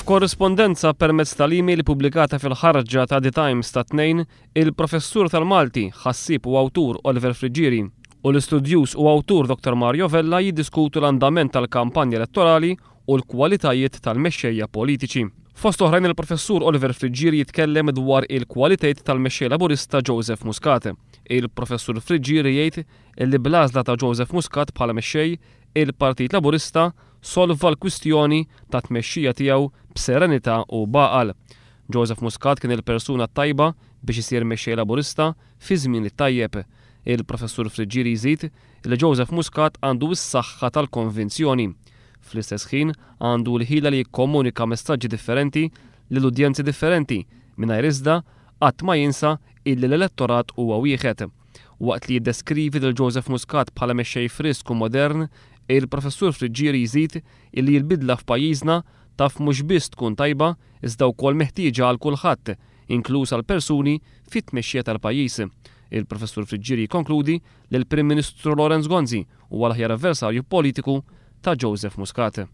F'korrispondenza permezz tal-email ippubblikata fil-ħarġa ta' The Times tat-Tnejn, il-Professur tal-Malti, ħassieb u awtur Oliver Friggieri u l-istudjuż u awtur Dottor Mario Vella jiddiskutu l-andament tal-kampanja elettorali u l-kwalitajiet tal-mexxejja politiċi. Fost oħrajn il-Professur Oliver Friggieri jitkellem dwar il-kwalitajiet tal-mexxej Laburista Joseph Muscat. Il-Professur Friggieri jgħid li bl-għażla ta' Joseph Muscat bħala mexxej, il-Partit Laburista solva l-kwistjoni tat-tmexxija tiegħu b'serenità u b'għaqal. Joseph Muscat kien il-persuna t-tajba biex isir mexxej Laburista fiż-żmien it-tajjeb. Il-Professur Friggieri jżid li Joseph Muscat għandu s-saħħa tal-konvinzjoni. Fl-istess ħin għandu l-ħila li jikkomunika messaġġi differenti lil udjenzi differenti mingħajr iżda qatt ma jinsa illi l-elettorat huwa wieħed. Waqt li jiddeskrivi lil Joseph Muscat bħala mexxej frisk u modern, il-Professur Friggieri jżid illi l-bidla f'pajjiżna taf mhux biss tkun tajba iżda wkoll meħtieġa għal kulħadd, inkluż għall-persuni fit-tmexxija tal-pajjiż. Il-Professur Friggieri jikkonkludi li l-Prim Ministru Lawrence Gonzi huwa l-aħjar avversarju politiku ta' Joseph Muscat.